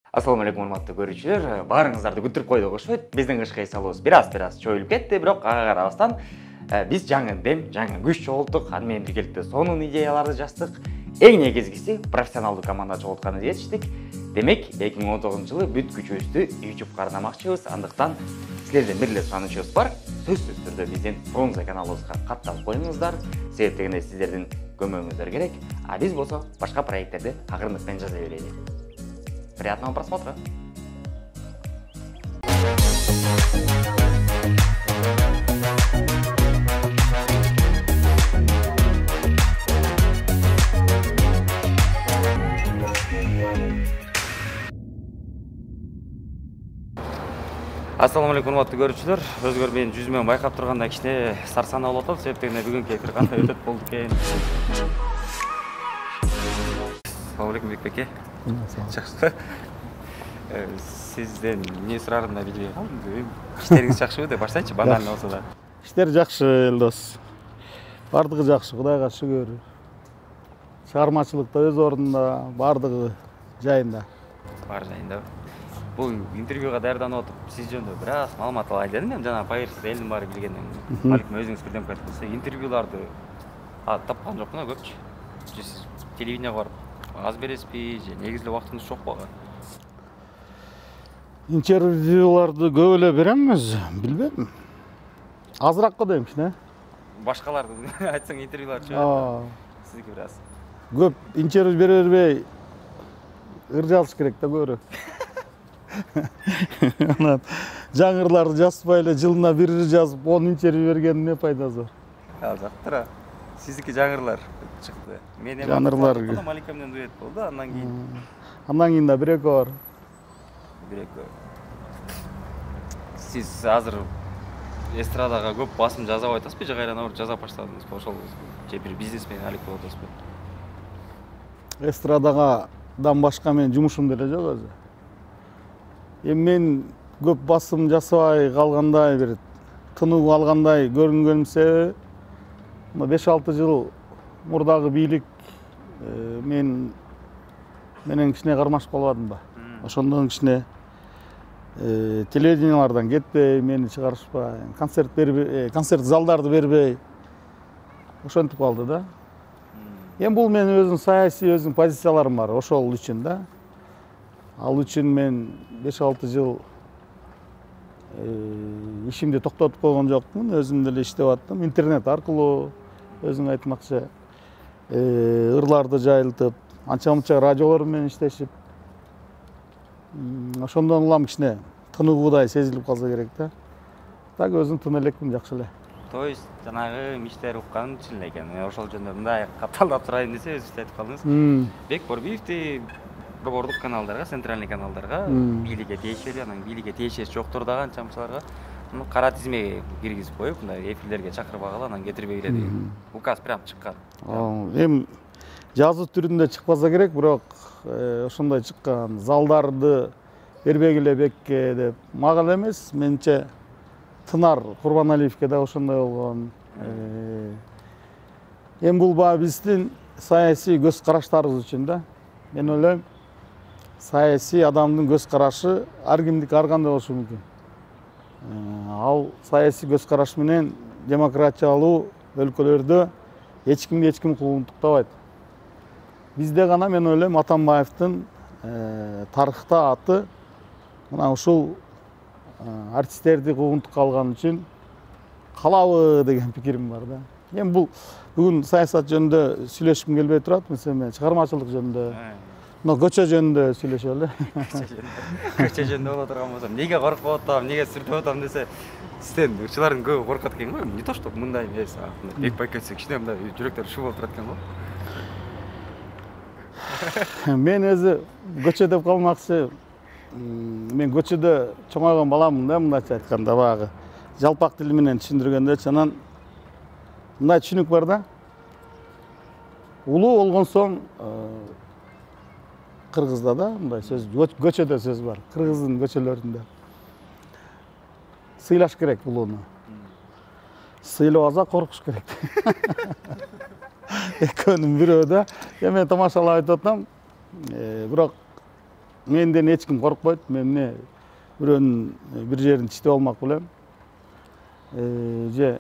Assalomu alaykum урматтуу көрүүчүлөр. Баарыңыздарды күтүрүп койдук окшойт. Биздин кышкы эсалыбыз бир-аз чоюлуп кетти, бирок ага карабастан биз жаңы дем, жаңы күч чогулттук. Аны менен биргеликте сонун идеяларды жаздык. Эң негизгиси профессионалдуу команда чогултканыбызды жетиштик. Демек, 2019-жылы бүт күчүбүздү YouTube кармакчыбыз. Андыктан силерден бир эле суранычыбыз бар. Сөзсүз түрдө биздин Фрунзе каналыбызга катталып коюңуздар. Себеп дегенде сиздердин көмөгүңүздөр керек. А биз болсо башка проекттерди акырындык жаза берели. Приятного просмотра! Assalamu alaykum урматтуу көрүүчүлөр. Өзгөр менин жүзүмөн байкап турганда кичине сарсанаа болуп атат. Себеп дегенде бүгүнкү эфир кандай өтөт болду экен. Assalamu alaykum Бекбеке. Жакшы. Сизден эмне сурарымды билбей калдым. Иштериңиз жакшыбы деп баштайчы, банально болсо да. Иштер жакшы, Элдос. Бардыгы жакшы, Кудайга шүгүр. Чыгармачылык да өз ордунда, бардыгы жайында. Бар жайында. Бул интервьюга даярданып отуп, сиз жөнүндө бир аз маалымат алайын дедим. Мен жана Пайырсыз элдин баары билгенден балким өзүңүз бирден айтып койсо, интервьюларды тапкан жокмун, көпчү. Сиз телевидениеге барып аз бересизби же негизги убактыңыз жокпу ага? Интервьюларды көп эле берем өзү, билбейм. Азыраак го дейм кичине. Башкаларды айтсаң интервьюлар чыгат. Сиздики бир аз. Көп интервью бере бербей ыр жазыш керек да көбүрөөк. Анан жаңырларды жазбай эле жылына бир жазып, 10 интервью бергендин эмне пайдасы бар? Жактыра. Сиздики жаңырлар чыкты. Мен жаңырлар Малика менен дуэт болду, андан кийин да бир-экөө бар. Бир-экөө. Сиз азыр эстрадага көп басым жазабай атасызбы же кайра набыр жаза баштадыңызбы? Ошол же бир бизнесмен алек болуп атасызбы? Эстрададан башка менин жумушум деле жок өзү. Эми мен көп басым жасабай калгандай, бир тынуу алгандай көрүнгөнүм себеби 5-6 жыл мурдагы бийлик менен кичине кармашып калбадымбы? Ошондон кичине телевидениялардан кетпей, мени чыгарышпай, концерт залдарды бербей ошентип калды да. Эми бул менин өзүм саясий өзүм позицияларым бар, ошол үчүн да. Ал үчүн мен 5-6 жыл ишимди токтотуп койгон жокмун, өзүм деле иштеп аттым. Интернет аркылуу өзүң айтмакчы ырларды жайылтып, анча-мынча радиолор менен иштешип, ошондон улам кичине тынуудай сезилип калса керек да. Так өзүм тына элекмин, жакшы эле. То есть жанагы миштер уккан чын эле экен. Ошол жөнүндө мындай катталдап сурайын десе өзүңүз айтып калдыңыз. Бек Борбиевди борбордук каналдарга, центральный каналдарга бийликке тиешелүү, анан бийликке тиешеси жоктор дагы анча-мынчаларга кара тизмеге киргизип коюп, мындай эфирлерге чакырбагыла, анан кетирбегиле деген указ прям чыккан. Эми жазуу түрүндө чыкпаса керек, бирок ошондой чыккан. Залдарды бербегиле Бекке деп. Мага эле эмес, менче Тынар Курбаналиевке да ошондой болгон. Эми бул баа биздин саясий көз караштарыбыз үчүн да. Мен ойлойм, саясий адамдын көз карашы ар кимдики ар кандай болушу мүмкүн. Ал саясий көз караш менен демократиялуу өлкөлөрдө эч ким куугунтуктабайт. Бизде гана мен ойлойм Атамбаевдин тарыхта аты мына ушул артисттерди куугунтукка алган үчүн калабы деген пикирим бар да. Эми бул бүгүн саясат жөнүндө сүйлөшкүм келбей турат, мисалы чыгармачылык жөнүндө, көчө жөнүндө сүйлөшөлү. Көчө жөнүндө боло турган болсо, эмнеге коркуп атам, эмнеге сүртүп атам десе, сизден учулардын көбү коркот экен го. Не то что мындай эмес, бек байкетсе кичине мындай жүрөктөр шу болуп турат экен го. Мен өзү көчө деп калмакчы. Мен көчөдө чоңойгон баламын да, мындайча айтканда баягы жалпак тил менен түшүндүргөндө, анан мындай түшүнүк бар да. Улуу болгон соң кыргызда да мындай сөз, көчөдө сөз бар, кыргыздын көчөлөрүндө. Сыйлаш керек улууну. Сыйлабаса коркуш керек. Экөөнүн бирөө да. Мен тамашалап айтып атам, бирок менден эч ким коркпойт. Мен эмне бирөөнүн бир жерин тиштеп алмак белем. Же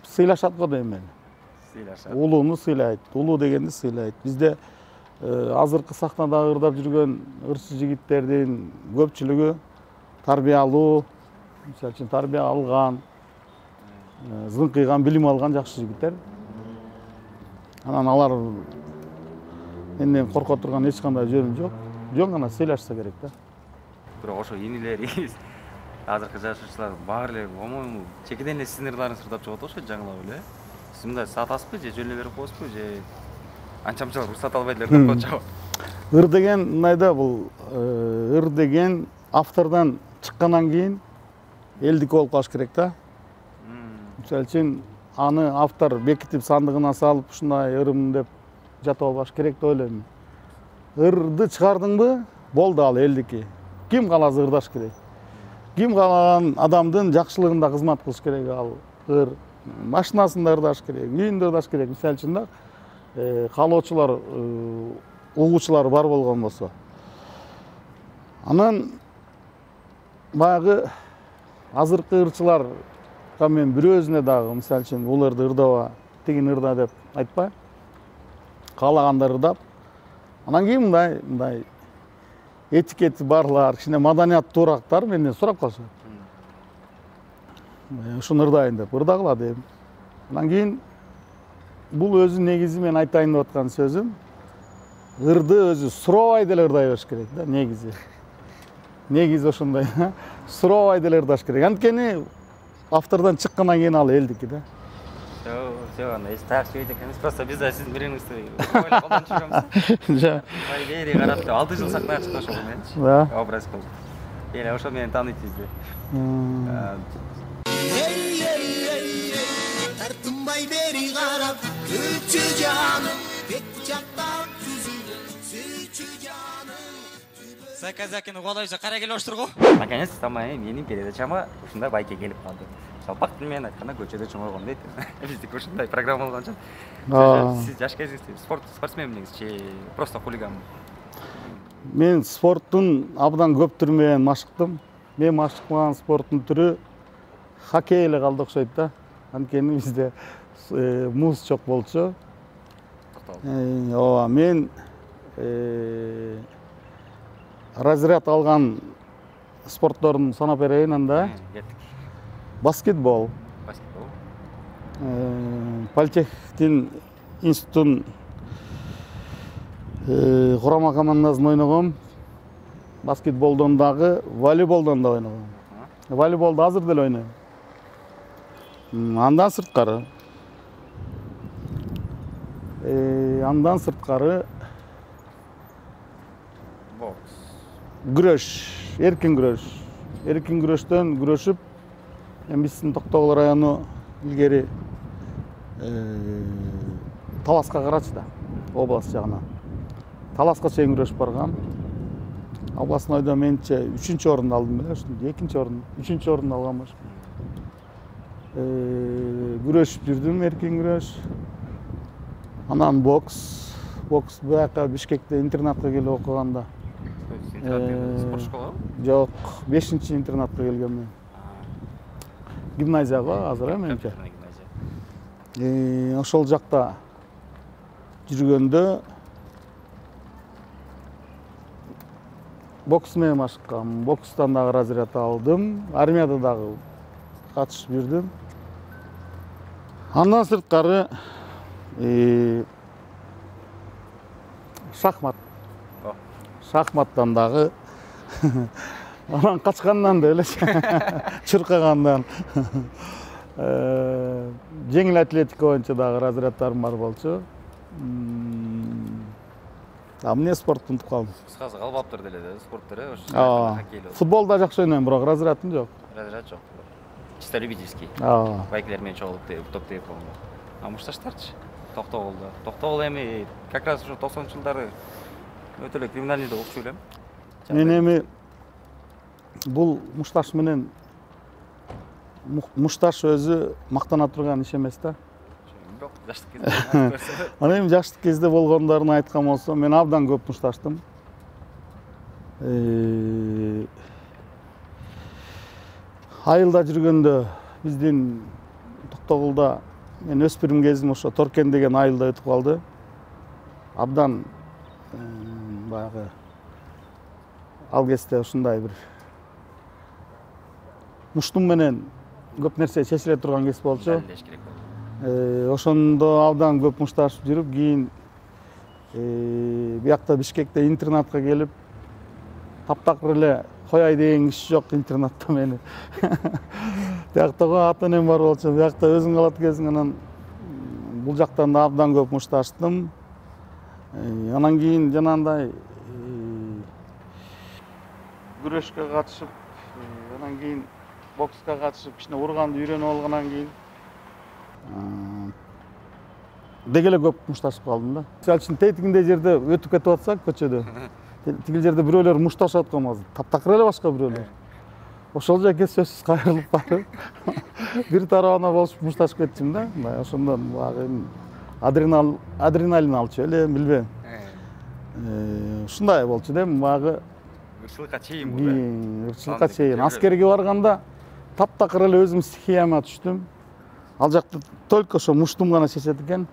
сыйлашат го дейм мен. Сыйлашат. Улууну сыйлайт, улуу дегенди сыйлайт. Бизде азыркы сахнада ырдап жүргөн ырчы жигиттердин көпчүлүгү тарбиялуу, мисалы үчүн тарбия алган, зыңкыйган, билим алган жакшы жигиттер. Анан алар менден корко турган эч кандай жөнү жок. Жөн гана сыйлашса керек да. Бирок ошо инилериңиз азыркы жашоочулар баары эле по-моему чекеден эле сиздин ырларыңызды ырдап чыгып атышат жаңылап эле. Сиз мындай сатасызбы же жөн эле берип коесузбу же анчамчалар уруксат албай эле ырдап атышабы? Ыр деген мындай да, бул ыр деген автордон чыккандан кийин элдики болуп калыш керек да. Мисалы үчүн аны автор бекитип сандыгына салып ушундай ырым деп жатып албаш керек деп ойлойм. Ырды чыгардыңбы, болду, ал элдики. Ким кааласа ырдаш керек. Ким каалаган адамдын жакшылыгында кызмат кылыш керек ал ыр. Машинасында ырдаш керек, үйүндө ырдаш керек. Мисалы үчүн да каалоочулар, угуучулар бар болгон болсо. Анан баягы азыркы ырчыларга мен бирөөсүнө дагы мисалы үчүн бул ырды ырдаба, тигин ырда деп айтпайм. Каалаганда ырдап, анан кийин мындай этикети барлар, кичине маданияттуурактар менден сурап калышат. Ушуну ырдайын деп ырдагыла дейм. Анан кийин бул өзү негизи мен айтайын деп аткан сөзүм, ырды өзү сурообай деле ырдай бериш керек да, негизи. Негизи ошондой, сурообай деле ырдаш керек. Анткени автордон чыккандан кийин ал элдики да. Все, анда эч так сөйт экенбиз. Просто биз да сиздин бириңизди ойлоп колдонуп жүрөбүз. Жа. Бери карап 6 жыл сахнага чыкты ошол мененчи. Да. Образ кылып. Эле ошол менен тааныйт бизди. Тартынбай бери карап, күчү жаным, бет жактан түзүлдү, сүйчү жаным. Заказакины угаалайбыз, кара келип оштурго. Наконец, самая менин передачама ушундай байке келип калды. Жалпак тил менен айтканда көчөдө чоңойгон дейт. Биздики ушундай программа болгончо. Сиз жаш кезиңизде спортсмен эмнеңиз же просто хулиганбы? Мен спорттун абдан көп түрү менен машыктым. Мен машыккан спорттун түрү хоккей эле калды окшойт да. Анткени бизде муз жок болчу. Ооба, мен разряд алган спортторун санап берейин анда. Баскетбол. Баскетбол. Политехтин институттун курама командасында ойногом. Баскетболдон дагы, волейболдон да ойногом. Волейболду азыр деле ойнойм. Андан сырткары Бокс. күрөш, эркин күрөш. Эркин күрөштөн күрөшүп, биздин Токтогул району илгери Таласка карачы да, область жагынан. Таласка чейин күрөшүп баргам. Областнойдо менче 3-чү орунду алдым беле, ошондо 2-чи орун, 3-чү орунду алгам болчу. Күрөшүп жүрдүм, эркин күрөш. Анан бокс бияка Бишкекте интернатка келип окуганда. Спорт школабы? Жок, 5-чи интернатка келгем мен. Гимназия го азыр менче. Ошол жакта жүргөндө бокс менен машыккам. Бокстан дагы разряд алдым. Армияда дагы катышып жүрдүм. Андан сырткары шахмат. Шахматтан дагы анан качкандан да эле чуркагандан жеңил атлетика боюнча дагы разряддарым бар болчу. Эмне спорт унутуп калдым. Кыскасы калбаптыр деле да спорттор, хоккейлөө. Футболда жакшы ойнойм, бирок разрядым жок. Разряд жок. Чисто любительский. Байкелер менен чогулуп топ тээп болгон. А мушташтарчы? Токтогулда. Токтогул эми как раз ушу 90-жылдары өтө эле криминальный деп окчу элем. Мен эми бул мушташ менен мушташ өзү мактана турган иш эмес да. бирок жаштык кезде. Анан эми жаштык кезде болгондорун айткан болсом, мен абдан көп мушташтым. Айылда жүргөндө биздин Токтогулда мен өспүрүм кезим ошо Торкен деген айылда өтүп калды. Абдан баягы ал кезде ушундай бир муштум менен көп нерсе чечиле турган кез болчу. Ошондо абдан көп мушташып жүрүп, кийин биякта Бишкекте интернатка келип, таптакыр эле кояй деген киши жок интернатта мени. Бияктагы ата-энем бар болчу, биякта өзүң калат экенсиң, анан бул жактан да абдан көп мушташтым. Анан кийин жанагындай күрөшкө катышып, анан кийин бокска катышып, кичине урганды үйрөнүп алгандан кийин деги эле көп мушташып калдым да. Мисалы үчүн тетигиндей жерде өтүп кетип атсак көчөдө, тигил жерде бирөөлөр мушташып аткан болсо, таптакыр эле башка бирөөлөр. Ошол жерге сөзсүз кайрылып барып, бир тарабына болушуп мушташып кетчүм да. Ошондон баягы адреналин алчу эле, билбейм. Ушундай болчу да, баягы Ырчылыкка чейин бул. Ырчылыкка чейин. Аскерге барганда таптакыр эле өзүм стихияма түштүм. Ал жакта только ошо муштум гана чечет экен,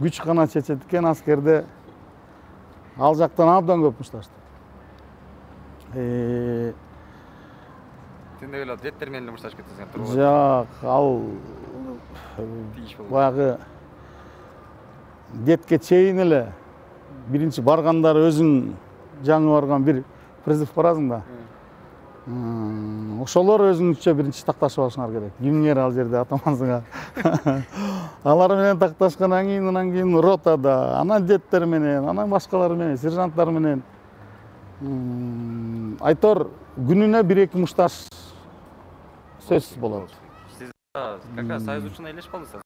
күч гана чечет экен аскерде. Ал жактан абдан көп мушташтым. Сен деле жеттер менен мушташып кетесиң турбу? Жок, ал баягы детке чейин эле биринчи баргандары өзүң жаңы барган бир призыв барасың да. Ошолор өзүңчө биринчи такташып алышыңар керек. Кимиңер ал жерде атамансыңар. Алар менен такташкандан кийин, анан кийин ротада, анан жеттер менен, анан башкалар менен, сержанттар менен айтор күнүнө 1-2 мушташ сөзсүз болот. Сиз как раз Союз учуна элешип калдыңыз.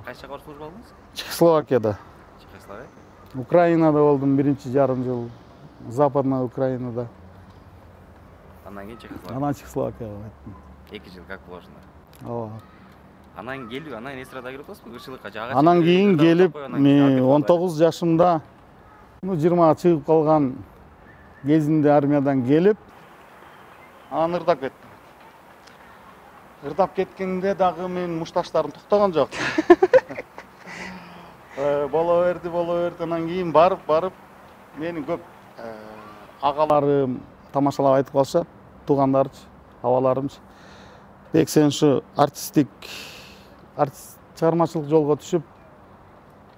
Кайсы жакка служба алдыңыз? Чехословакияда. Чехословакия? Украинада болдум 1,5 жыл. Западная Украинада. Анан кийин Чехословакия. Анан Чехословакияга кеттим. 2 жыл как положено. Ооба. Анан келип, анан эстрада кирип атасызбы? Ырчылыкка жага. Анан кийин келип, мен 19 жашымда, 20 чыгып калган кезинде армиядан келип, анан ырдап кеттим. Ырдап кеткенде дагы мен мушташтарым токтогон жок. Боло берди, анан кийин барып, мени көп агаларым тамашалап айтып калышат, туугандарчы, абаларымчы. Бек сен ушу артист чыгармачылык жолго түшүп,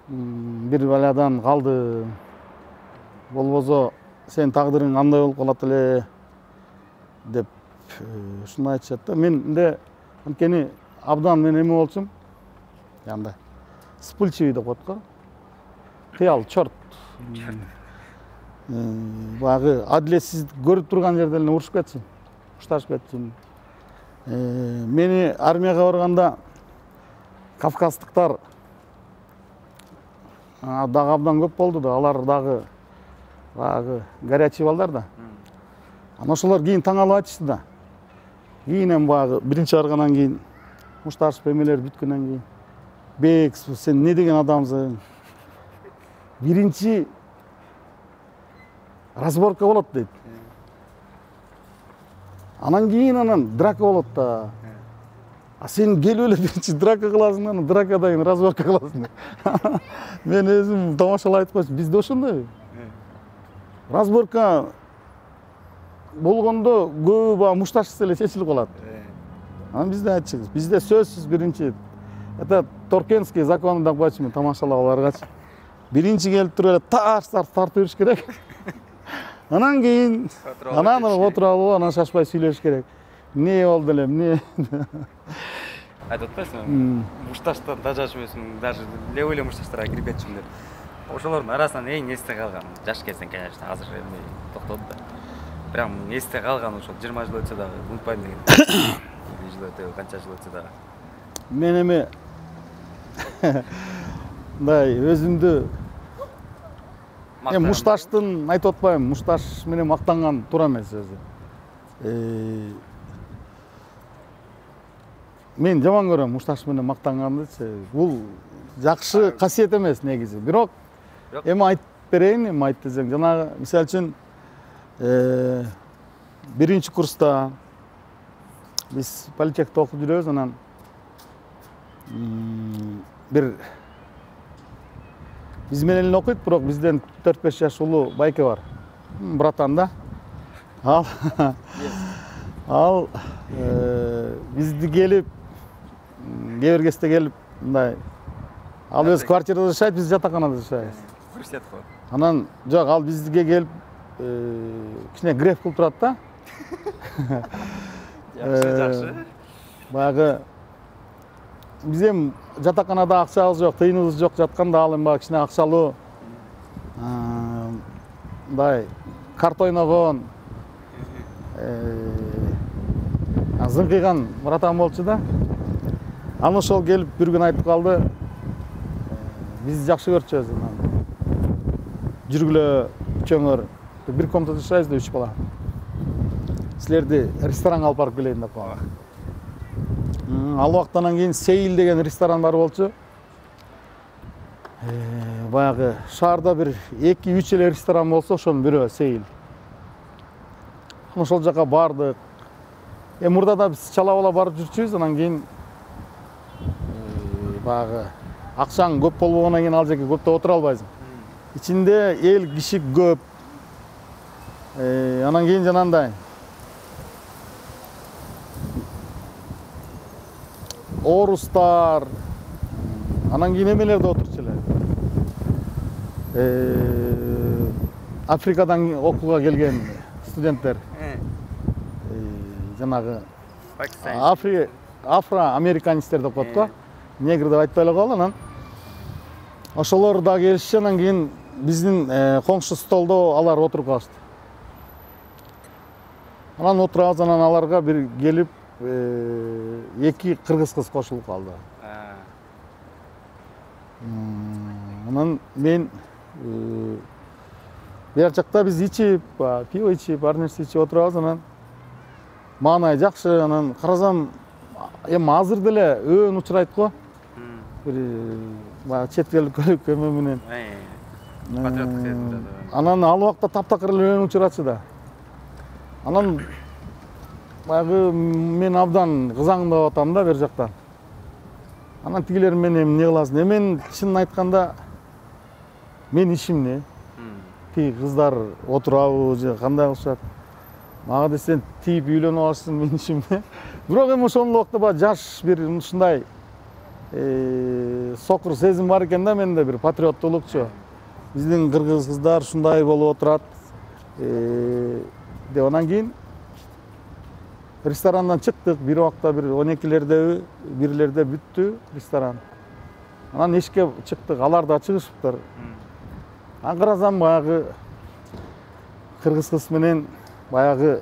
бир баладан калды. Болбосо сен тагдырың андай болуп калат эле деп ушуну айтышат да. Менде анткени абдан мен эме болчумун. Андай вспыльчивый деп коет го. Кыял, чорт. Баягы адилетсиздик көрүп турган жерде эле урушуп кетчүмүн, мушташып кетчүмүн. Мени армияга барганда кавказдыктар дагы абдан көп болду да, алар дагы баягы горячий балдар да. Анан ошолор кийин таң алып айтышты да. Кийин эми баягы биринчи баргандан кийин мушташып эмелер бүткөндөн кийин Бек, сен не деген адамсың? Биринчи разборка болот дейт. Анан кийин драка болот да. А сен келип эле биринчи драка кыласың, анан дракадан кийин разборка кыласың. Мен өзүм тамашалап айтып койчумун, бизде ошондойбу? Разборка болгондо көбү баягы мушташсыз эле чечилип калат. Анан бизде айтчыбыз, бизде сөзсүз биринчи это Торкенский законы деп койчумун тамашалап аларгачы. Биринчи келип туруп эле тартып бериш керек. Анан кийин отура алып, анан шашпай сүйлөш керек. Не болду эле, эмне? Айтып атпайсыңбы? Мушташтан дажашмысың, даже левый эле мушташтарга кирип кетчүмүн деп. Ошолордун арасынан эң эсте калган, жаш кезден, конечно, азыр эми токтоду да. Прям эсте калган ошол 20 жыл өтсө дагы унутпайм деген. 20 жыл өтө, канча жыл өтсө дагы. Мен эми мындай өзүмдү мушташтын айтып атпайм, мушташ менен мактанган туура эмес өзү. Мен жаман көрөм мушташ менен мактангандычы. Бул жакшы касиет эмес негизи. Бирок эми айтып берейин, эми айт десең, жанагы мисалы үчүн биринчи курста биз политехте окуп жүрөбүз, анан бир биз менен эле окуйт, бирок бизден 4-5 жаш улуу байке бар. Братан да. Ал бизди келип, кээ бир кезде келип, мындай ал өз квартирада жашайт, биз жатаканада жашайбыз. Фурсет го. Анан жок, ал бизге келип кичине греф кылып турат да. Жакшы. Баягы биз эми жатаканада акчабыз жок, тыйыныбыз жок жатканда ал эми баягы кичине акчалуу мындай карта ойногон зыңкыйган братан болчу да. Анан ошол келип бир күн айтып калды. Бизди жакшы көрчүбүз. Жүргүлө үчөөңөр бир комнатада жашайбыз да, 3 бала. Силерди ресторанга алып барып келейин деп калды. Ал убактан кийин Сейил деген ресторан бар болчу. Баягы шаарда бир 2-3 эле ресторан болсо, ошонун бирөө Сейил. Ошол жака бардык. Мурда да биз чала бала барып жүрчүбүз, анан кийин баягы акчаң көп болбогондон кийин ал жерге көптөп отура албайсың. Ичинде эл киши көп. Анан кийин жанагындай орустар, анан кийин эмелер да отурчу эле. Африкадан окууга келген студенттер. Жанагы афро-американецтер деп коет го. Негр деп айтпай эле коелу. Анан ошолор да келишти, анан кийин биздин коңшу столдо алар отуруп калышты. Анан отурабыз, анан аларга бир келип 2 кыргыз кыз кошулуп калды. Анан мен бияк жакта биз ичип, пиво ичип, ар нерсе ичип отурабыз, анан маанай жакшы, анан карасам эми азыр деле өөн учурайт го. Бир баягы чет элдик көлүккө менен. Патриоттук сезимде. Анан ал убакта таптакыр эле өөн учурачу да. Анан баягы мен абдан кызаңдап атам да бер жактан. Анан тигилер менен эмне кыласың? Мен чынын айтканда мен ишим эмне? Тиги кыздар отурабы же кандай кылышат? Мага десең тийип үйлөнүп алышсың, мен ишим эмне? Бирок эми ошол убакта баягы жаш бир ушундай сокур сезим бар экен да менде, бир патриоттуулукчу. Биздин кыргыз кыздар ушундай болуп отурат деп. Анан кийин ресторандан чыктык, бир убакта бир 12-лерде, 1-лерде бүттү ресторан. Анан эшикке чыктык, алар да чыгышыптыр. Анан карасам баягы кыргыз кыз менен баягы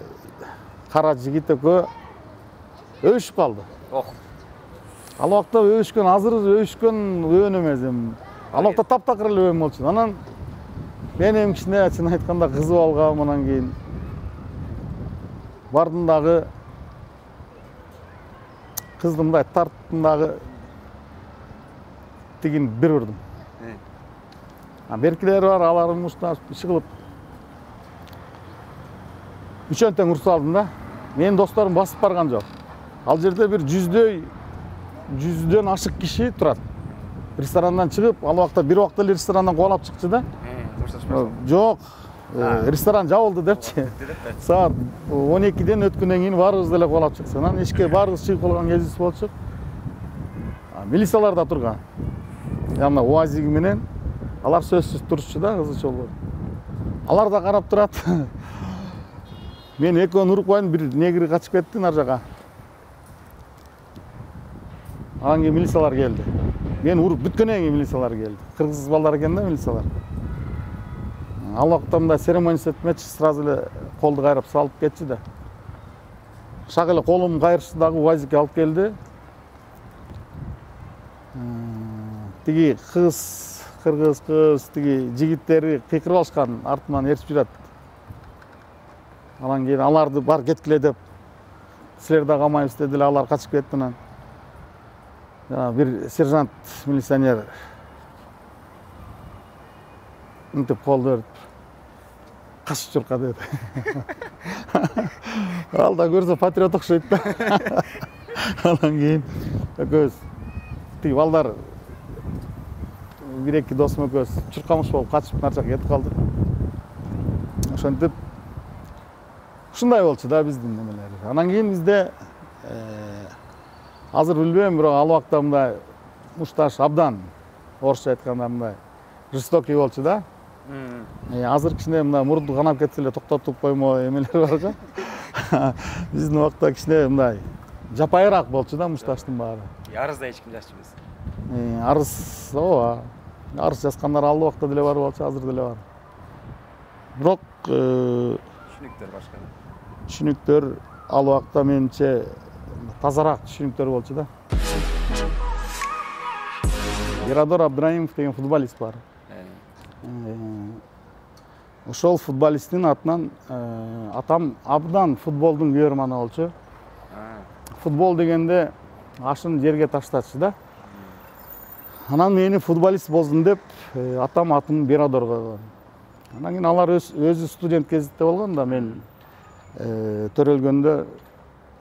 кара жигит экөө өбүшүп калды. Ал убакта өбүшкөн, азыр өбүшкөн өөн эмес эми. Ал убакта таптакыр эле өөн болчу. Анан мен эми кичине чын айтканда кызып алгам. Анан кийин бардым дагы кызды мындай тарттым дагы тигин бир урдум. Беркилер бар, алар мушташ иши кылып үчөн тең урсуп алдым да. Менин досторум басып барган жок. Ал жерде бир 100дөн ашык киши турат. Ресторандан чыгып, ал убакта бир убакта эле ресторандан кубалап чыкчу да. Жок, ресторан жабылды депчи. Саат 12ден өткөндөн кийин баарыбыз деле кубалап чыксак. Анан эшикке баарыбыз чыгып калган кезибиз болчу. Милициялар да турган. Яна УАЗиги менен алар сөзсүз турчу да, кызычолор. Алар да карап турат. Мен экөөнү уруп коюн, бир негри качып кетти нар жака. Анан кийин милициялар келди. Мен уруп бүткөндөн кийин милициялар келди. Кыргыз балдар экен да милициялар. Ал убакта мындай церемония этмечи, сразу эле колду кайрап салып кетчи да. Шак эле колумду кайрышты дагы УАЗикке алып келди. Тиги кыргыз кыз, тиги жигиттери кыйкырып алышкан, артынан ээрчип жүрөт. Анан кийин аларды бар кеткиле деп, силер да камайбыз деди эле, алар качып кетти. Анан жана бир сержант милиционер мынтип кол берип каш чурка деди. Ал да көрсө патриот окшойт да. Анан кийин экөөбүз тиги балдар бир эки досум экөөбүз чуркамыш болуп качып нар жака кетип калдык. Ошентип ушундай болчу да биздин немелер. Анан кийин бизде азыр билбейм, бирок ал убакта мындай мушташ абдан орусча айтканда мындай жестокий болчу да. Азыр кичине мындай мурду канап кетсе эле токтотуп коймо эмелер бар го. Биздин убакта кичине мындай жапайыраак болчу да мушташтын баары. Арызда эч ким жазчу эмес. Арыз, ооба. Арыз жазгандар ал убакта деле бар болчу, азыр деле бар. Бирок Түшүнүктөр башка. Түшүнүктөр ал убакта менимче тазараак түшүнүктөр болчу да. Ирадор Абдраимов деген футболист бар. Ошол футболисттин атынан атам абдан футболдун күйөрманы болчу. Футбол дегенде ашын жерге таштачу да. Анан мени футболист болсун деп атам атын Бирадор койгон. Анан кийин алар өзү студент кезинде болгон да, мен төрөлгөндө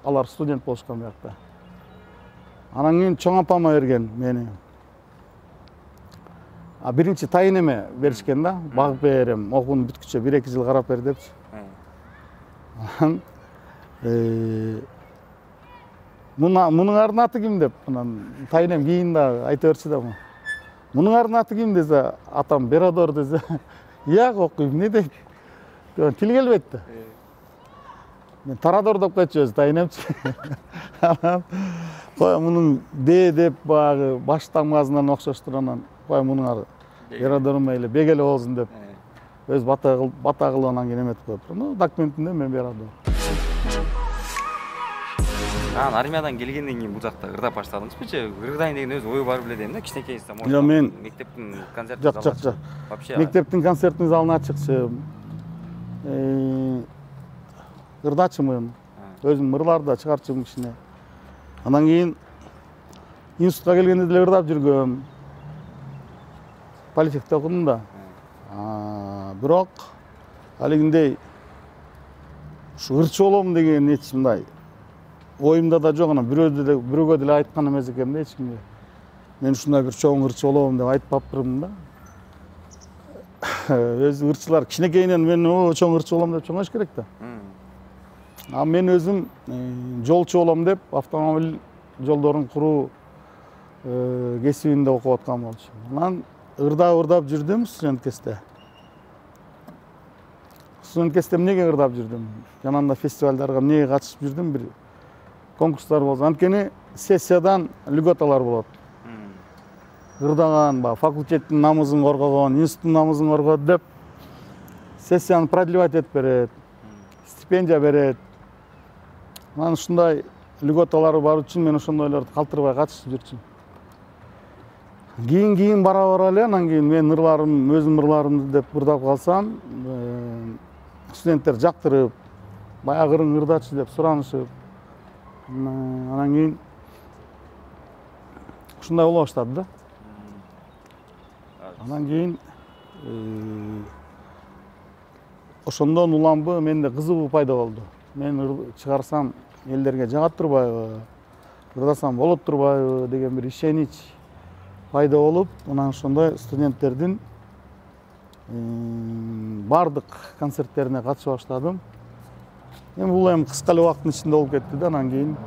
алар студент болушкан биякта. Анан кийин чоң апама берген мени. Биринчи тайын эме беришкен да, багып берем, окууну бүткүчө 1-2 жыл карап бер депчи. Анан мунун аты ким деп, анан тайынем кийин да айта берчи да. Мунун аты ким десе, атам Бирадор десе, yak окуйм, эмне дейт? Тил келбейт да. Мен Тарадор деп койчу өзү тайынемчи. Анан кой мунун деп багы баш тамгасынан окшоштур, анан кой мунун Бирадорум эле бек эле болсун деп өз бата кылып анан кийин эметип коюптур. Ну, документинде мен Бирадор. Армиядан келгенден кийин бул жакта ырдап баштадыңызбы же? Ырдайын деген өз ою бар беле дейм да, кичинекейсиз. Жок, мен мектептин концертин жок. Мектептин концертин залына чыкчым. Ырдачымын. Өзүм ырларды да чыгарчумун кичине. Анан кийин институтка келгенде деле ырдап жүргөм. Политехте окудум да. Бирок алигиндей ушу ырчы болом деген эч мындай оюмда да жок. Анан бирөөгө деле айткан эмес экенмин да эч кимге. Мен ушундай бир чоң ырчы болом деп айтпаптырмын да. Өзү ырчылар кичинекейинен мен чоң ырчы болом деп чоңош керек да. Мен өзүм жолчу болом деп автомобиль жолдорун куруу кесибинде окуп аткан болчумун. Анан ырдап жүрдүм студенткесте. Студенткесте эмнеге ырдап жүрдүм? Жанагындай фестивалдарга эмнеге катышып жүрдүм? Бир конкурстар болсо, анткени сессиядан льготалар болот. Ырдаган, факультеттин намысын коргогон, институттун намысын коргот деп сессияны продлевать этип берет, стипендия берет. Анан ушундай льготалары бар үчүн мен ошондойлорду калтырбай катышып жүрчүмүн. Кийин бара эле, анан кийин мен өзүм ырларымды деп ырдап калсам, студенттер жактырып, баягы ырың ырдачы деп суранышып, анан кийин ушундай боло баштады да. Анан кийин ошондон уламбы менде кызыгуу пайда болду. Мен чыгарсам элдерге жагат турбайбы, ырдасам болот турбайбы деген бир ишенич пайда болуп, анан ошондой студенттердин бардык концерттерине катышып баштадым. Бул эми кыска эле убакыттын ичинде болуп кетти да. Анан кийин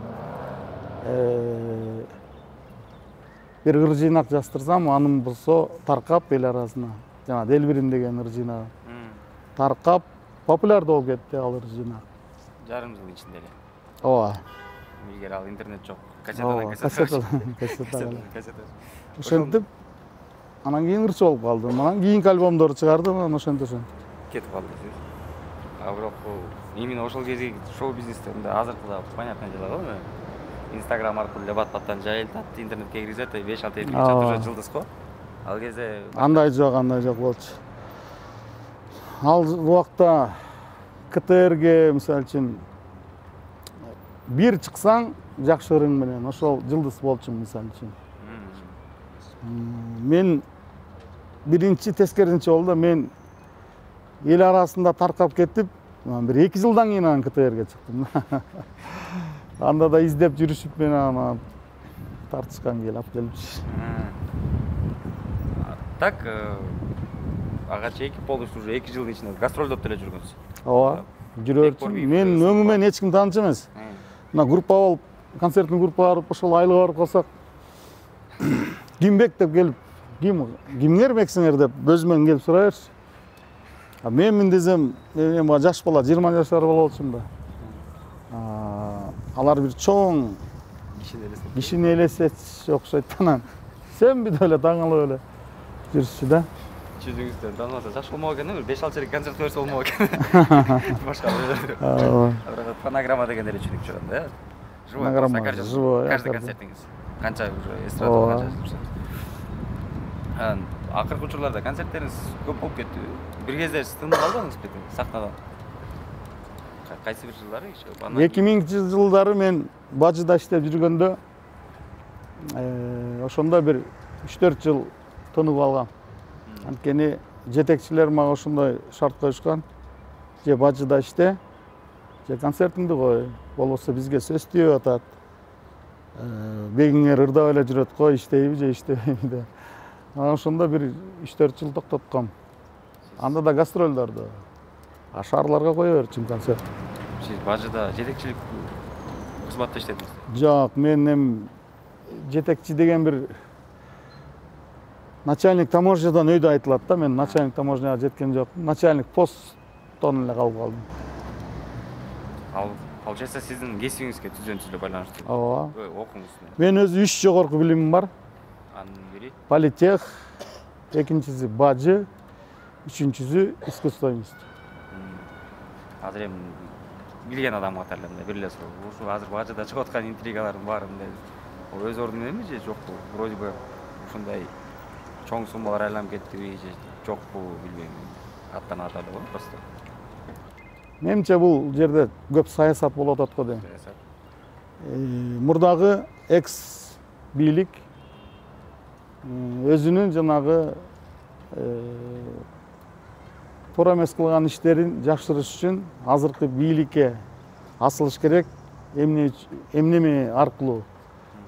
бир ыр жыйнак жаздырсам, анын болсо таркап эл арасына. Жана Делбирим деген ыр жыйнагы таркап популярдуу болуп кетти ал ыр жыйнак. Жарым жыл ичинде эле. Ооба. Илгери ал интернет жок. Кассета. Ошентип анан кийин ырчы болуп калдым. Анан кийинки альбомдорду чыгардым, анан ошентип кетип калдыңыз. Бирок именно ошол кезде шоу-бизнесте азыркыда понятное дело го. Инстаграм аркылуу эле бат-баттан жайылтат, интернетке киргизет, 5-6 эпилик чатыр жылдыз го. Ал кезде андай жок болчу. Ал убакта КТРге мисалы үчүн бир чыксаң жакшы ырың менен ошол жылдыз болчумун мисалы үчүн. Мен биринчи тескерисинче болду. Мен эл арасында таркап кетип, бир 2 жылдан кийин анан КТРге чыктым. Анда да издеп жүрүшүп мен аны тартышкан кел алып келипчи. Так, ага чейин болуш уже 2 жылдын ичинде гастролдоп деле жүргөнсүз. Ооба, жүрөчүм. Мен өңүмөн эч ким тааныш эмес. Мына группа болуп, концерттин группа барып, ошол айылга барып калсак, кимбек деп келип, кимдермексиңер деп өзүмөн келип сурай берчү. Менмин десем, мен жаш бала, 20 жашар бала болчумун да. Алар бир чоң кишини элестетиш окшойт. Анан сенби деп эле таң калып эле жүрүшчү да. Жүзүңүздөн тааныбаса жаш болмок экен, бир 5-6 чейин концерт берсе болмок экен. Башка бир фонограмма деген эле чүрүк чыгат да. Фонограмма, живой. Каждый концертиңиз канча уже эстрада канча. Акыркы учурларда концерттериңиз көп болуп кетти. Бир кезде тынып калдыңыз бети сахнадан. Кайсы бир жылдары? 2000 жылдары мен Бажыда иштеп жүргөндө, ошондо бир 3-4 жыл тынып алгам. Анткени жетекчилер мага ошондой шарт коюшкан. Же Бажыда иште, же концертиңди кой, болбосо бизге сөз тийип атат. Бегиңер ырдап эле жүрөт, кой иштейби же иштебейби деп. Ошондо бир 3-4 жыл токтотком. Анда да гастролдорду. Шаарларга кое берчүмүн концерт. Сиз Бажыда жетекчилик кызматта иштедиңиз? Жок, мен эми жетекчи деген бир начальник таможнядан өйдө айтылат да. Мен начальник таможняга жеткен жокмун. Начальник посттон эле калып калдым. Ал получается сиздин кесибиңизге түзөн эле байланыштуу. Ооба. Окуңуз. Мен өзү 3 жогорку билимим бар. Анын бири Политех, экинчиси Бажы, үчүнчүсү искусство институту. Азыр эми билген адам катары бир эле суроо. Ушу азыр Бажыда чыгып аткан интригалардын баарын өз ордуна эми же жокпу? Вроде бы ушундай чоң суммалар айланып кеттиби же жокпу билбейм. Аттан ата эле го просто. Менимче бул жерде көп саясат болуп атат го дейм. Мурдагы экс бийлик өзүнүн жанагы туура эмес кылган иштерин жакшыртыш үчүн азыркы бийликке асылыш керек. Эмнеме аркылуу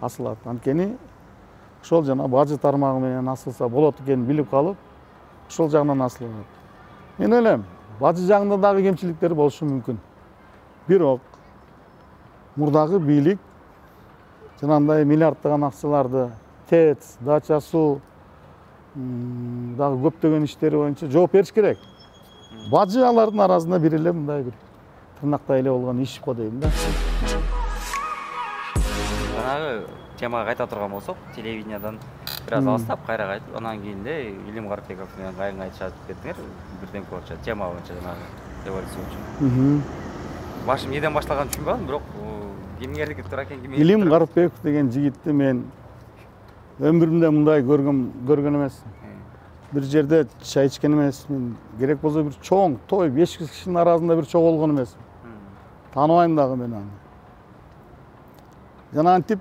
асылат. Анткени ошол жана Бажы тармагы менен асылса болот экенин билип калып, ошол жагынан асылат. Мен ойлойм, Бажы жагында дагы кемчиликтер болушу мүмкүн. Бирок мурдагы бийлик жанагындай миллиарддаган акчаларды ТЭЦ, дача суу дагы көптөгөн иштери боюнча жооп бериш керек. Бажы алардын арасында бир эле мындай бир тырнактай эле болгон иш го дейм да. Жанагы темага кайта турган болсок, телевидениядан бир аз алыстап кайра кайтып, анан кийин Илим Карпеков менен кайын айтышып кеттиңер, бирден боюнча тема боюнча жанагы революция боюнча. Башым неден башталганын түшүнбөй калдым, бирок кимдердики туура экен ким? Илим Карпеков деген жигитти мен өмүрүмдө мындай көргөн эмесмин. Бир жерде чай ичкен эмесмин. Керек болсо бир чоң той 5 кишинин арасында бир чогулгон эмесмин. Тааныбайм дагы мен аны. Жана антип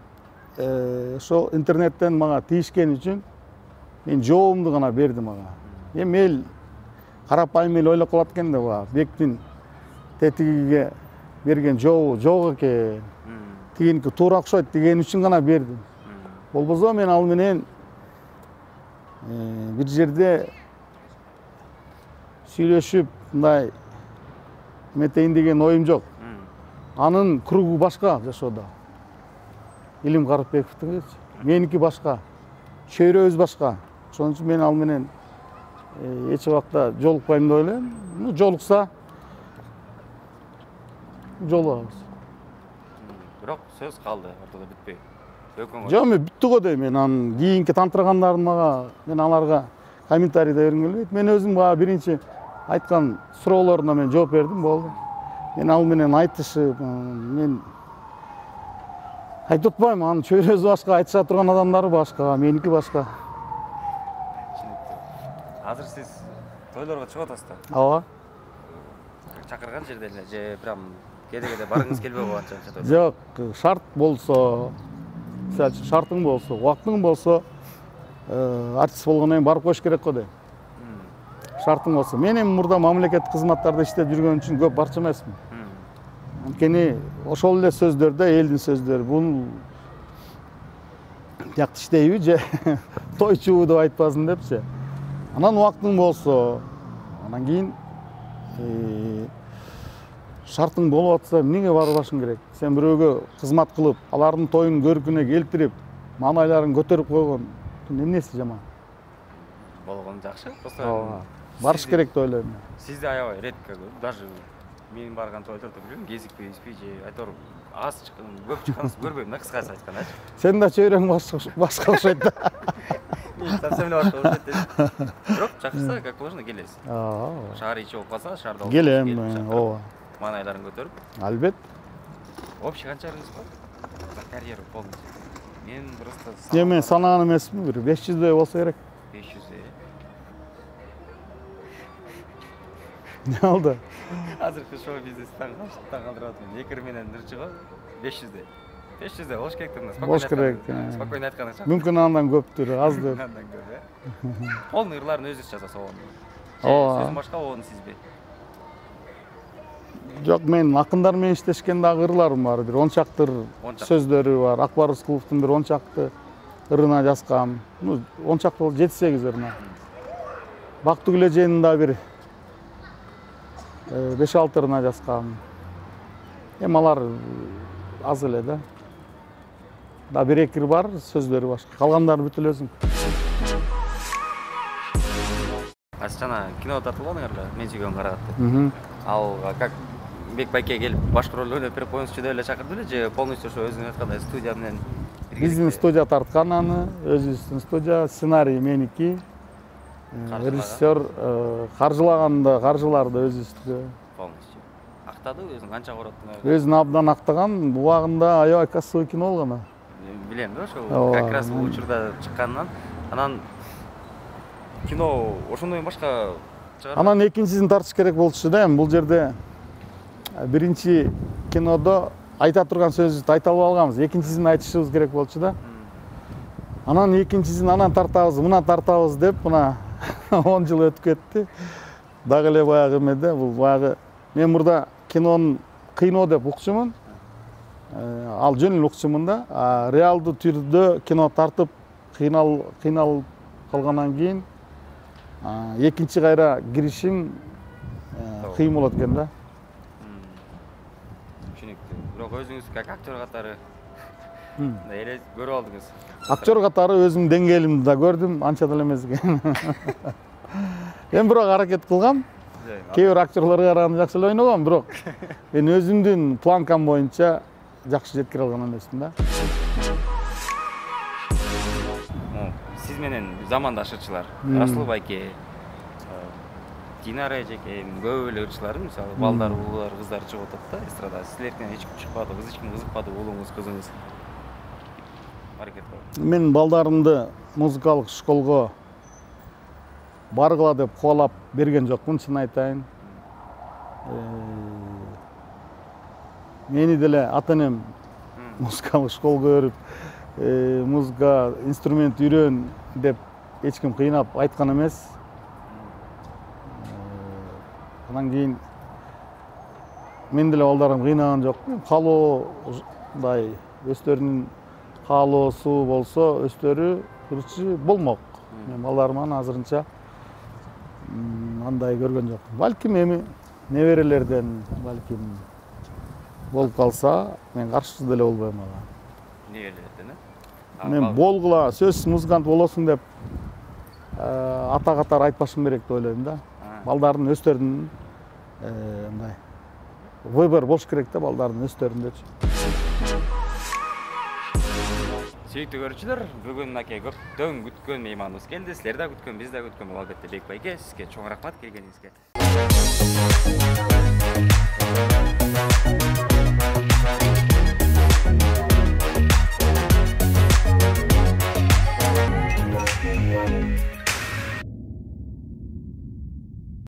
ошо интернеттен мага тийишкен үчүн мен жообумду гана бердим ага. Эми эл карапайым эл ойлоп калат экен да, бектин тетигиге берген жообу жок экен. Тигиники туура окшойт деген үчүн гана бердим. Болбосо мен ал менен бир жерде сүйлөшүп мындай эметейин деген оюм жок. Анын кругу башка жашоодо. Илим Карпековдун, меники башка. Чөйрөбүз башка. Ошон үчүн мен ал менен эч убакта жолукпайм деп ойлойм. Жолукса жолугабыз. Бирок сөз калды, ортодо бүтпөй. Жок, мен бүттү го дейм. Мен анын кийинки тантырагандарын мага мен аларга комментарий да бергим келбейт. Мен өзүм баа биринчи айткан суроолоруна мен жооп бердим, болду. Мен ал менен айтышып, мен айтып атпайм, анын чөйрөсү башка, айтыша турган адамдары башка, меники башка. Азыр сиз тойлорго чыгып атасыз да? Ооба. Чакырган жерде эле же прям кээде баргыңыз келбей калганча? Жок, шарт болсо, мисалы үчүн шартың болсо, убактың болсо, артист болгондон кийин барып коюш керек го дейм. Шартың болсо. Мен эми мурда мамлекеттик кызматтарда иштеп жүргөн үчүн көп барчу эмесмин. Анткени ошол эле сөздөрдө элдин сөздөрү бул жакты иштейби же тойчубу деп айтпасын депчи. Анан убактың болсо, анан кийин шартың болуп атса эмнеге барбашың керек? Сен бирөөгө кызмат кылып, алардын тоюн көркүнө келтирип, маанайларын көтөрүп койгон эмнеси жаман? Болгон жакшы. Просто барыш керек деп ойлойм. Сизди аябай редко даже мен барган тойлордо билем, кезикпей же айтор аз чыккан, көп чыкканыңызды көрбөйм да, кыскасы айтканда. Сен да чөйрөң башка окшойт да. Совсем эле башка окшойт. Бирок чакырса, как положено келесиз. Шаар ичи болуп калса, шаарда келем, ооба. Маанайларын көтөрүп. Албет. Общий канчалыгыңыз бар? За карьера полностью. Мен просто мен санаган эмесмин, бир 500 болсо керек. 500. Не алды? Азыркы шоу бизнестен калтырып атам. Экир менен нырчыга 500. 500 болуш керек да. Болуш керек. Спокойно айтканыңыз. Мүмкүн андан көптүр, аздыр. Андан көп, э? Полный ырларын өзүңүз жасаса болот. Ооба. Сөзүн башка болону сизби? Жок, мен акындар менен иштешкен дагы ырларым бар. Бир 10 чактыр сөздөрү бар. Акбар Рыскуловдун бир 10 чакты ырына жазгам. 10 чакты болуп 7-8 ырына. Бактыгүл эженин да бир 5-6 ырына жазгам. Эми алар аз эле да. Да бир-экир бар, сөздөрү башка. Калгандары бүт эле өзүм. Жана кино тартылгонуңарга мен сүйгөн карагатты. Ал как Бек байке келип башкы роль ойноп берип коюңузчу деп эле чакырды беле же полностью ошо өзүңүз айткандай студия менен? Биздин студия тарткан аны, өзүбүздүн студия, сценарий меники. Режиссер каржылар да өзүбүздүкү. Полностью. Актады өзүң канча короттуң? Өзүн абдан актаган, убагында аябай кассовый кино болгон. Билем да, ошол как раз бул учурда чыкканынан. Анан кино ошондон башка чыгар. Анан экинчисин тартыш керек болчу да, эми бул жерде биринчи кинодо айта турган сөзүбүздү айта албай калганбыз. Экинчисин айтышыбыз керек болчу да. Анан экинчисин анан тартабыз, мына тартабыз деп, мына 10 жыл өтүп кетти. Дагы эле баягы эмеде, бул баягы мен мурда кинонун кыйноо деп укчумун. Ал жөн эле укчумун да. Реалдуу түрдө кино тартып кыйналып калгандан кийин экинчи кайра киришим кыйын болот экен да. Түшүнүктүү. Бирок өзүңүз как актер катары эле көрүп алдыңыз. Актер катары өзүмдүн деңгээлимди да көрдүм, анча деле эмес экен. Мен бирок аракет кылгам. Кээ бир актерлорго караганда жакшы эле ойногом, бирок мен өзүмдүн планкам боюнча жакшы жеткире алган эмесмин да. Сиз менен замандаш ырчылар, Расул байке, Динара эжеке, көп эле ырчылар, мисалы балдар, уулар, кыздар чыгып атат да эстрадага. Силерден эч ким чыкпады, эч ким кызыкпады, уулуңуз, кызыңыз? Аракет кылып. Мен балдарымды музыкалык школго баргыла деп кубалап берген жокмун, чын айтайын. Мени деле ата-энем музыкалык школго берип, музыка инструмент үйрөн деп эч ким кыйнап айткан эмес. Анан кийин мен деле балдарым кыйнаган жокмун. Каалоосундай өздөрүнүн каалоосу болсо, өздөрү ырчы болмок. Мен балдарыман азырынча андай көргөн жокмун. Балким эми неберелерден балким болуп калса, мен каршы деле болбойм ага. Неберелерден, Мен болгула сөзсүз музыкант болосуң деп ата катары айтпашым керек деп ойлойм да. Балдардын өздөрүнүн мындай выбор болуш керек да, балдардын өздөрүндөчү. Сүйүктүү көрүүчүлөр, бүгүн аке көптөн күткөн мейманыбыз келди. Силер да күткөн, биз да күткөн албетте Бек байке. Сизге чоң рахмат келгениңизге.